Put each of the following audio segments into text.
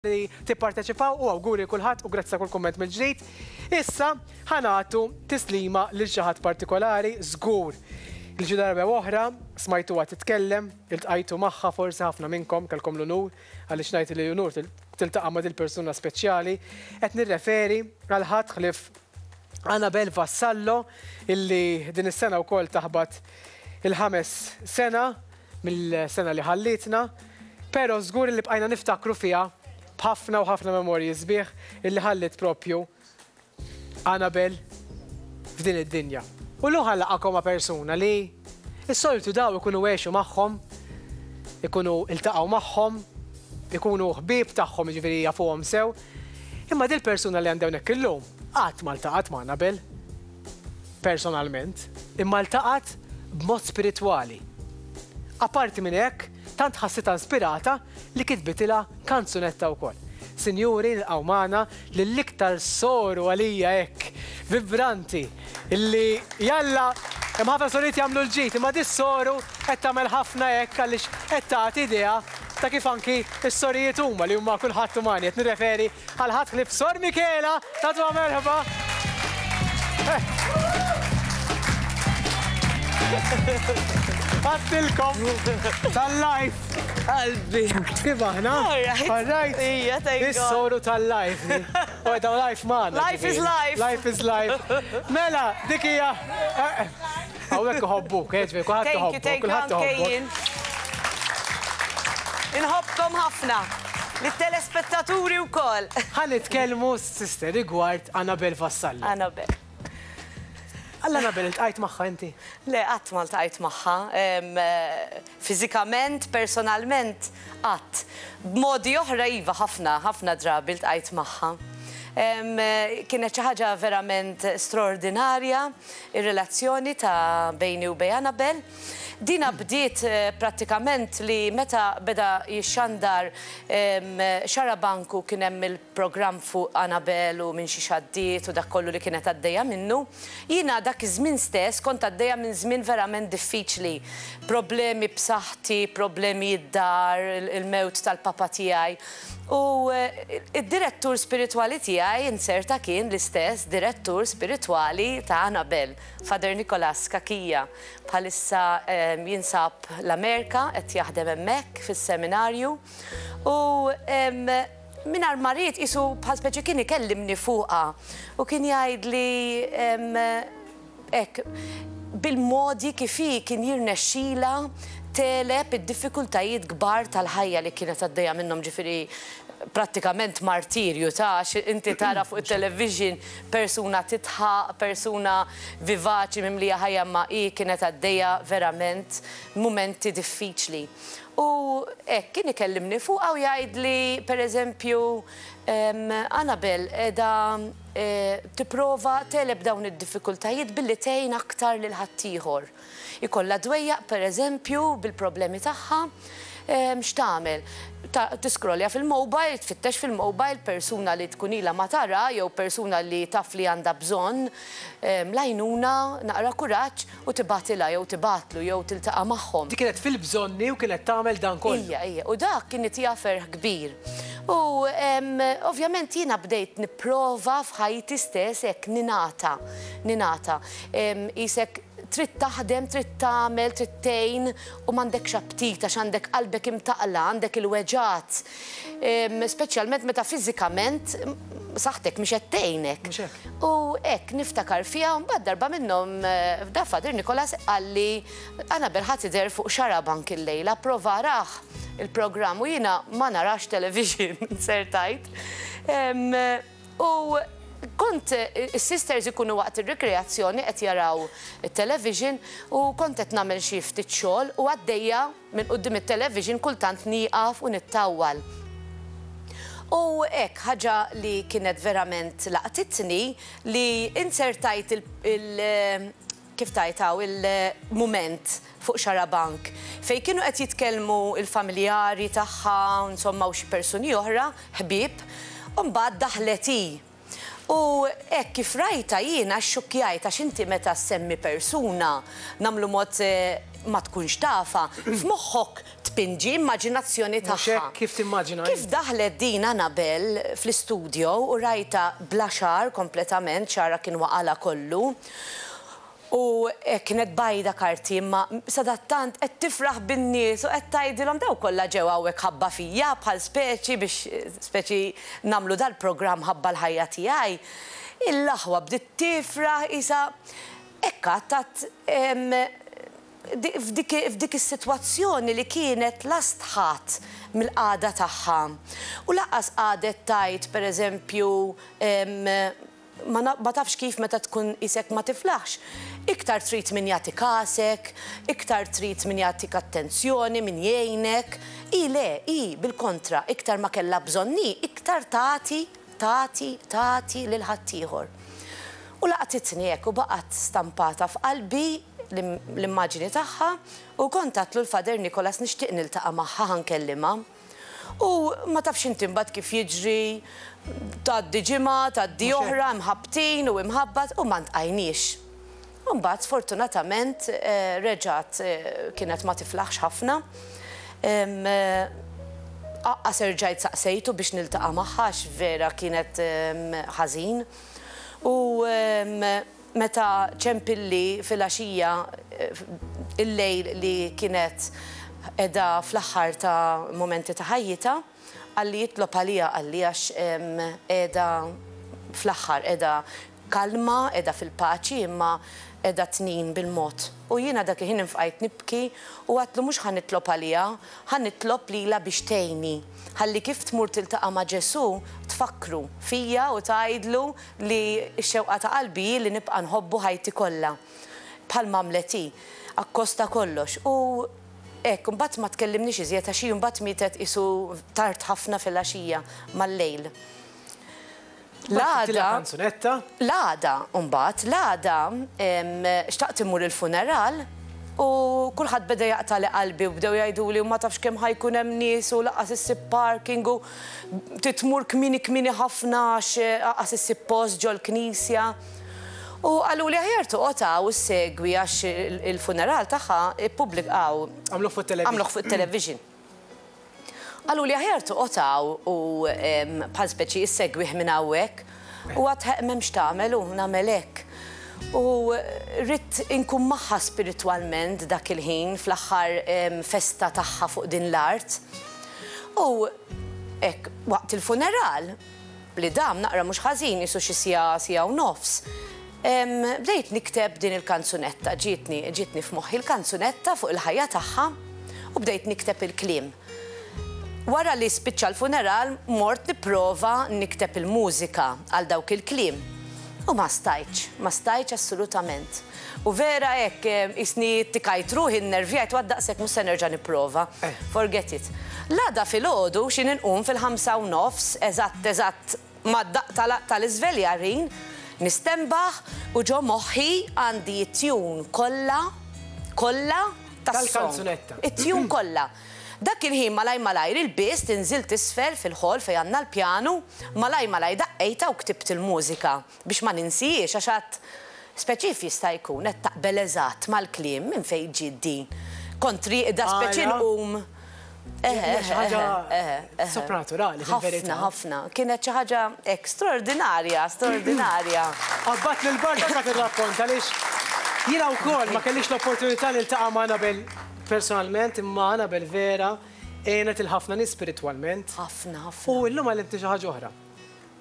Li tipparteċipaw u awguri lil kulħadd u grazzi ta' kull kumment mill-ġdid. Issa ħa nagħtu tislima lil xi ħadd partikolari żgur li xi darba jew oħra smajtuha titkellem, iltqajtu magħha forsi ħafna minnkom kellkom l-unur għaliex ngħid li unur tiltaqa' ma' dil-persuna speċjali. Qed nirreferi għal ħadd ħlief Annabelle Vassallo illi din is-sena wkoll taħbat il-ħames sena mill-sena li ħallietna, pero żgur li bqajna niftakru fiha b'ħafna u ħafna memorji sbieħ illi ħalliet propju Annabelle f'din id-dinja. U llum ħa nlaqqagħkom ma' persuna li s-soltu daw ikunu għexu magħhom, ikunu iltaqgħu magħhom, ikunu ħbieb tagħhom jiġifieri jafuhom sew, imma dil-persuna li għandi hawnhekk illum qatt ma ltaqgħet ma' Annabelle. personalment, imma ltaqgħet b'mod spiritwali. Apparti minn hekk, tant ħassitha inspirata li kitbitilha kanzunetta wkoll. Sinjuri, nilqgħu magħna lill-iktar soru għalija hekk vibranti li jalla hemm ħafna sorijiet jagħmlu l-ġid, imma dis-soru qed tagħmel ħafna hekk għaliex qed tagħti idea ta' kif anki s-sorijiet huma li huma kulħadd umani. Qed nirreferi Għal ħadd ħlief Sor Michela, tagħtuha merħba. Għattilkom tal-life. Qalbi. Kif aħna? All right. Ija, thank God. Is-soru tal-life. U daw life magħna. Life is life. Life is life. Mela, dik hija. Hawnhekk iħobbuk, eh, ġifieri kulħadd iħobbok, kulħadd iħobbok. Inħobbkom ħafna. Lit-telespettaturi wkoll. Ħa nitkellmu, sister, rigward Annabelle Vassallo. Annabelle. Għal Annabelle iltqajt magħha inti? Le, qatt ma ltqajt magħha. Fiżikament, personalment, qatt. B'modi oħra iva ħafna, ħafna drabi ltqajt magħha. Kienet xi ħaġa verament straordinarja. Ir-relazzjoni ta' bejni u bejn Annabelle. Dina bdiet prattikament li meta beda jixxandar Xarabank u kien hemm il-programm fuq Annabelle u minn xiex għaddiet u dak kollu li kienet għaddejja minnu. Jiena dak iż-żmien stess kont għaddejja minn żmien verament diffiċli. Problemi b'saħħti, problemi d-dar, il-mewt tal-papa tiegħi. U d-direttur spiritwali tiegħi inzerta kien l-istess direttur spiritwali ta' Annabelle, Father Nicholas Cachia. Bħalissa jinsab l-Amerika, qed jaħdem hemmhekk fis-seminarju. U mingħajr ma ried qisu bħal speċi kien ikellimni fuqha u kien jgħidli Hekk, bil-modi kif hi kien jirnexxilha tegħleb id-diffikultajiet kbar tal-ħajja li kienet għaddejja minnhom, ġifieri prattikament martirju ta' għax inti tara fuq it-television persuna tidħaq, persuna vivaċi mimlija ħajja imma hi kienet għaddejja verament mumenti diffiċli. U hekk kien ikellimni fuqha u jgħidli pereżempju Annabelle qiegħda tipprova tegħleb dawn id-diffikultajiet billi tgħin aktar lil ħaddieħor. Ikollha dwejjaq, pereżempju, bil-problemi tagħha, x'tagħmel? Tiskrollja fil-mobile, tfittex fil-mobile persuna li tkun ilha ma tara jew persuna li taf li għandha bżonn l-għajnuna, naqra kuraġġ, u tibgħatilha jew tibgħatlu jew tiltaqa' magħhom. Di kienet fil-bżonni u kienet tagħmel dan kollu. Ija, ija, u dak kien itiha ferħ kbir. U ovvjament jiena bdejt nipprova f'ħajti stess hekk ningħata, ningħata. Qisek trid taħdem, trid tagħmel, trid tgħin u m'għandekx aptit għax għandek qalbek imtaqqla, għandek il-weġgħat. Speċjalment meta fiżikament saħħtek mhix qed tgħinek. Mhux hekk. U hekk niftakar fiha u mbagħad darba minnhom da Father Nicholas qalli Annabelle ħa tidher fuq Xarabank illejla, prova arah il-programm u jiena ma narax television, inzertajt. U kont is-sisters ikunu waqt ir-rikreazzjoni qed jaraw it-television u kont qed nagħmel xi ftit xogħol u għaddejja Minn quddiem it-television kultant nieqaf u nittawwal. U hekk, ħaġa li kienet verament laqtitni li inzertajt il, kif tgħid hawn, il-mument fuq Xarabank fejn kienu qed jitkellmu l-familjari tagħha, insomma u xi persuni oħra, ħbieb, u mbagħad daħlet hi. U hekk kif rajtha jiena xxukkjajt għax inti meta ssemmi persuna, nagħmlu mod ma tkunx tafha, f'moħħok tpinġi immaġinazzjoni Mhux tagħha. hekk kif timmaġina Kif int. daħlet din Annabelle fl-istudio u rajtha bla xagħar kompletament, xagħarha kien waqalha kollu, u hekk kienet bajda karti imma sadattant qed tifraħ bin-nies u qed tgħidilhom dawn kollha ġew hawnhekk ħabba fija bħal speċi biex speċi nagħmlu dal-programm ħabba l-ħajja tiegħi. Il-aħwa bdiet tifraħ qisha hekk għad f'dik is-sitwazzjoni li kienet la stħat mill-qagħda tagħha u lanqas qagħdet tgħid pereżempju ma tafx kif meta tkun qisek ma tiflaħx, iktar trid min jagħti kasek, iktar trid min jagħtik attenzjoni, min jgħinek. Hi le, hi bil-kontra, iktar ma kellha bżonn hi, iktar tagħti, tagħti, tagħti lil ħaddieħor. U laqtitni hekk u baqgħet stampata f'qalbi l-immaġini tagħha u kont għadtlu l-Father Nicholas nixtieq niltaqa' magħha ħa nkellimha. U ma tafx inti mbagħad kif jiġri, tgħaddi ġimgħa, tgħaddi oħra, imħabbtin u imħabbat u ma ntqajniex. U mbagħad sfortunatament reġgħet kienet ma tiflaħx ħafna. Aqqas erġajt saqsejtu biex niltaqa' magħha għax vera kienet ħażin. U meta ċempilli filgħaxija il-lejl li kienet qiegħda fl-aħħar ta' mumenti ta' ħajjitha, qalli itlob għaliha qalli għax qiegħda fl-aħħar, qiegħda kalma, qiegħda fil-paċi imma qiegħda tnin bil-mod. U jiena dak il-ħin infqajt nibki u għadtlu mhux ħa nitlob għaliha, ħa nitlob lilha biex tgħinni. Ħalli kif tmur tiltaqa' ma' Ġesù tfakkru fija u tgħidlu li x-xewqa ta' qalbi hi li nibqa' nħobbu ħajti kollha. Bħalma għamlet hi. Akkost ta' kollox. U hekk, imbagħad ma tkellimniex iżjed għax hi mbagħad mietet qisu tard ħafna filgħaxija, mal-lejl. L-għada. Kanzunetta. L-għada, mbagħad, l-għada xtaqt immur il-funeral u kulħadd beda jaqtagħli qalbi u bdew jgħiduli u ma tafx kemm ħa jkun hemm nies u lanqas issib parking u trid tmur kmieni kmieni ħafna għax anqas issib post ġol-knisja. U qaluli aħjar toqgħod hawn u ssegwi għax il-funeral tagħha ippubblikawh. Għamluh fuq it-television. Għamluh fuq it-television. Qaluli aħjar toqgħod hawn u bħal speċi issegwih minn hawnhekk. U għad ħeqq m'hemm x'tagħmel u nagħmel hekk. U ridt inkun magħha spiritwalment dak il-ħin fl-aħħar festa tagħha fuq din l-art. U hekk waqt il-funeral, li dam naqra mhux ħażin qisu xi siegħa, siegħa u nofs, bdejt nikteb din il-kanzunetta, ġietni, ġietni f'moħħi l-kanzunetta fuq il-ħajja tagħha u bdejt nikteb il-kliem. Wara li spiċċa l-funeral mort nipprova nikteb il-mużika għal dawk il-kliem u ma stajtx, ma stajtx assolutament. U vera hekk qisni ttikajt ruħi, nnervjajt u għad daqshekk mhux se nerġa' nipprova. Forget it. L-għada filgħodu x'in inqum fil-ħamsa u nofs, eżatt eżatt mad-daqq tal-iżveljarin, nistenbaħ u ġo moħħi għandi t-tune kollha, kollha tas-song. Tal-kanzunetta. It-tune kollha. Dak il-ħin malajr malajr ilbist, inżilt isfel fil-hall fejn għandna l-pjanu, malajr malajr daqqejtha u ktibt il-mużika. Biex ma ninsihiex għax għad speċi jista' jkun qed taqbel eżatt mal-kliem minn fejn ġiet din. Kont rieqda speċi nqum. Eħe, xi ħaġa sopranaturali fil-verità. Ħafna, ħafna. Kienet xi ħaġa hekk straordinarja, straordinarja. Qabbadt lil Bart anke tirrakkonta għaliex jiena wkoll ma kellix l-opportunità niltaqa' ma' Annabelle personalment imma Annabelle vera għenet 'il ħafna nies spiritwalment. Ħafna, ħafna. U llum għallimtni xi ħaġa oħra.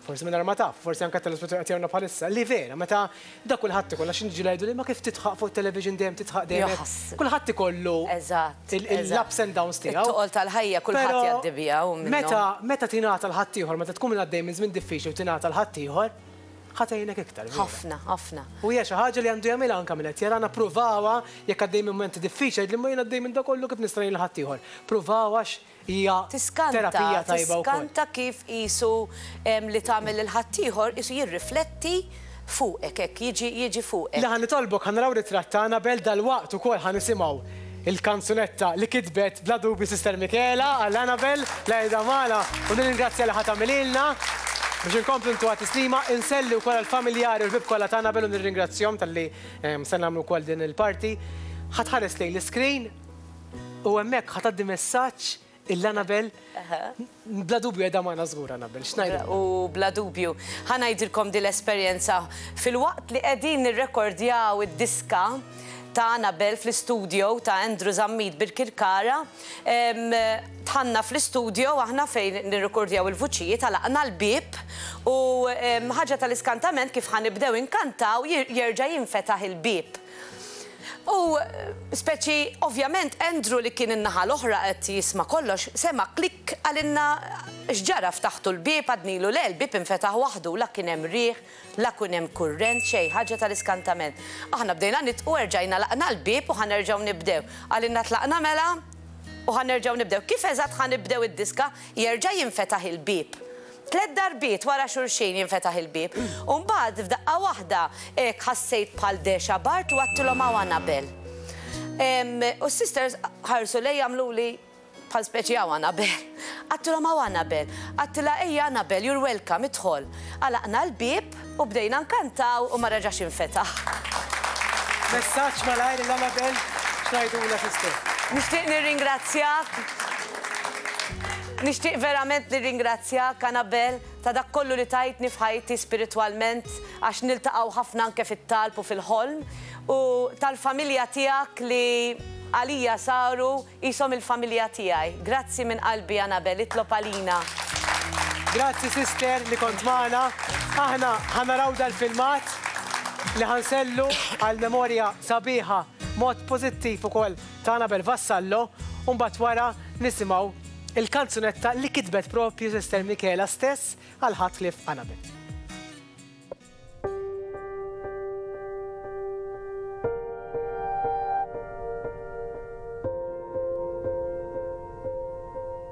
Forsi mingħajr ma taf, forsi anke t-telespettaturi qed jarawna bħalissa, li vera, meta da kulħadd ikollu, għax jiġu jgħiduli ma kif tidħaq fuq it-television dejjem tidħaq dejjem hekk. Kulħadd ikollu l-ups and downs tiegħu. It-toqol tal-ħajja kulħadd jgħaddi biha u minnhom. Meta meta tingħata 'l ħaddieħor, meta tkun għaddej minn żmien diffiċli u tingħata 'l ħaddieħor, ħa tgħinek iktar. Ħafna, ħafna. U hija xi ħaġa li għandu jagħmilha anke min qed jarana, ppruvawha jekk għaddej minn mumenti diffiċli, għidli imma jien għaddej minn da kollu kif nista' ngħin lil ħaddieħor. Ppruvawha għax Hija terapija tajba wkoll. Tiskanta kif qisu li tagħmel lil ħaddieħor qisu jirrifletti fuqek hekk, jiġi jiġi fuqek. Li ħa nitolbok ħa naraw ritratt ta' Annabelle dalwaqt ukoll ħa nisimgħu il-kanzunetta li kitbet bla dubju Sister Michela għal Annabelle li qiegħda magħna u nirringrazzja li ħa tagħmililna biex inkomplu ntuha tislima. Inselli wkoll għall-familjari u l-ħbieb kollha ta' Annabelle u nirringrazzjahom talli se nagħmlu wkoll din il-parti. Ħa tħares lejn l-iscreen. U hemmhekk ħa tgħaddi messaġġ lil Annabel. Bla dubju qiegħda magħna żgur Annabel, x'ngħidilha? U bla dubju. Ħa ngħidilkom din l-esperjenza. Filwaqt li qegħdin nirrekordjaw id-diska ta' Annabel fl-istudio ta' Andrew Zammit Birkirkara, dħalna fl-istudio aħna fejn nirrekordjaw il-vuċijiet, għalaqna l-bieb u ħaġa tal-iskantament kif ħa nibdew inkantaw jerġa' jinfetaħ il-bieb. U speċi ovvjament Andrew li kien in-naħa l-oħra qed jisma' kollox, sema' klikk qalilna x'ġara ftaħtu l-bieb għadnilu le l-bieb infetaħ waħdu la kien hemm riħ, la kien hemm kurrent xejn, ħaġa tal-iskantament. Aħna bdejna nidqu erġajna għalaqna l-bieb u ħa nerġgħu nibdew. Qalilna tlaqna mela u ħa nerġgħu nibdew. Kif eżatt ħa nibdew id-diska jerġa' jinfetaħ il-bieb. Tlett darbiet wara xulxin jinfetaħ il-bieb. U mbagħad f'daqqa waħda hekk ħassejt bħal dexa bard u għadtilhom hawn Annabel. U s-sisters ħarsu lejja għamluli bħal speċi hawn Annabel. Għadtilhom hawn Annabel. Għadtilha ejja Annabel, you're welcome, idħol. Għalaqna l-bieb u bdejna nkantaw u ma reġax infetaħ. Messaġġ malajr lil Annabel, x'ngħidulha sister? Nixtieq nirringrazzjak. Nixtieq verament nirringrazzjak, Annabel, ta' dak kollu li tajtni f'ħajti spiritwalment, għax niltaqgħu ħafna anke fit-talb u fil-ħolm, u tal-familja tiegħek li għalija saru qishom il-familja tiegħi. Grazzi minn qalbi, Annabel, itlob għalina. Grazzi sister li kont magħna. Aħna ħa naraw dal-filmat li ħa nsellu għal memorja sabiħa mod pożittiv ukoll ta' Annabel Vassallo, u mbagħad wara nisimgħu il-kanzunetta li kitbet propju Sister Michela stess għal ħadd ħlief Annabel.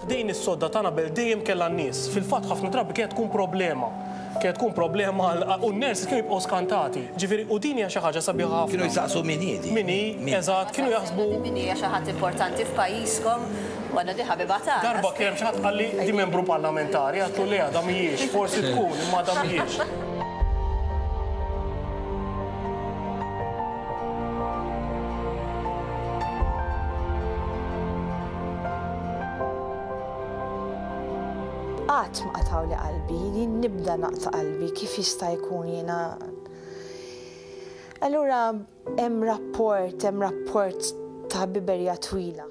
F'dejn is-sodda ta' Annabel dejjem kellha n-nies. Fil-fatt ħafna drabi kienet tkun problema. Kienet tkun problema u n-nurses kienu jibqgħu skantati. Ġifieri u din hija xi ħaġa sabiħa ħafna. Kienu jsaqsu min hi din. Min hi, eżatt, kienu jaħsbu. Min hija xi ħadd importanti f'pajjiżkom u għandna di ħabiba tagħna. Darba kien hemm xi ħadd qalli di membru parlamentari, għedtlu le għadha mhijiex, forsi tkun imma għadha mhijiex. Qatt ma qatgħuli qalbi, jien nibda naqta' qalbi kif jista' jkun jiena. Allura hemm rapport, hemm rapport ta' ħbiberija twila.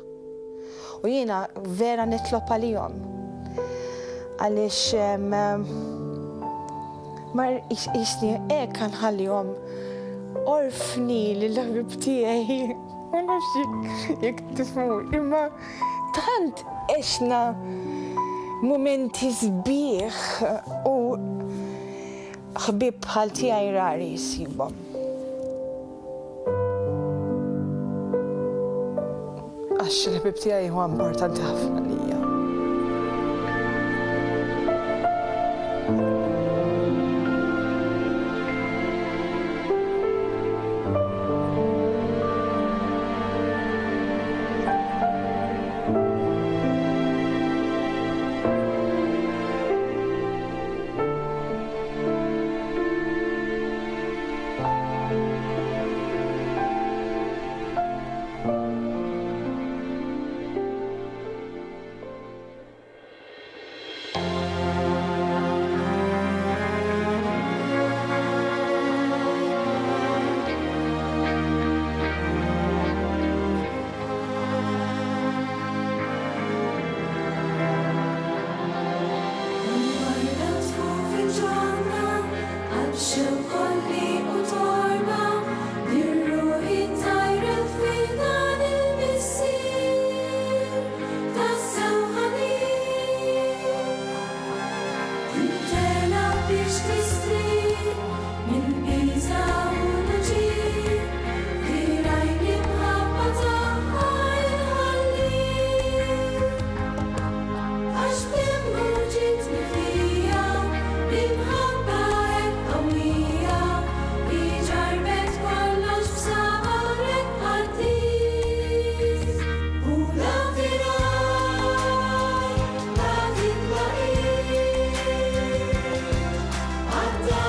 U jiena vera nitlob għalihom. Għaliex ma jisni hekk nħallihom orfni lill-ħbib tiegħi. Ma nafx jekk tifhmu, imma tant għexna mumenti sbieħ u ħbieb bħal tiegħi rari jsibhom. Għax il-ħbieb tiegħi huwa importanti ħafna lija. Għadda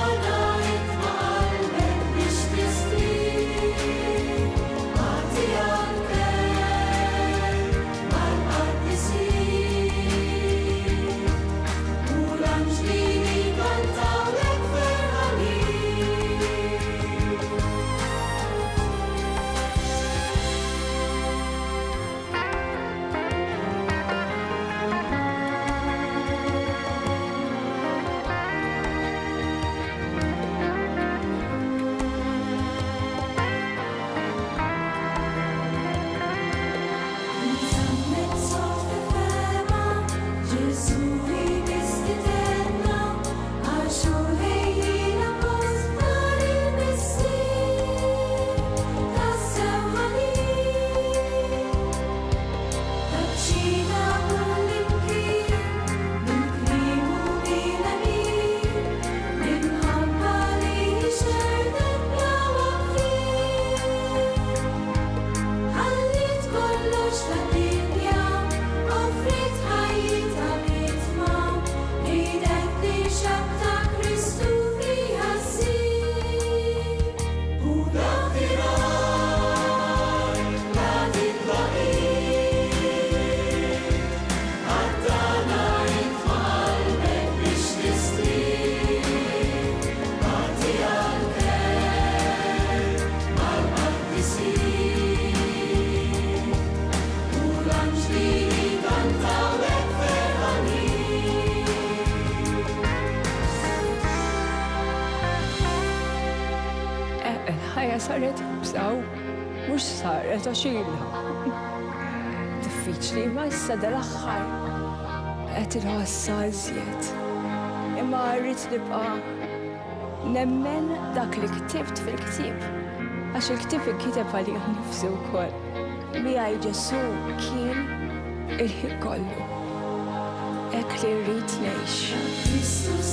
Il-ħajja saret iebsa u mhux saret għax ilha. Diffiċli imma issa dal-aħħar qed inħossha iżjed. Imma rrid nibqa' nemmen dak li ktibt fil-ktieb. Għax il-ktieb inkiteb għalija nnifsi wkoll. Miegħi Ġesù kien il-ħin kollu. Hekk li rrid ngħix.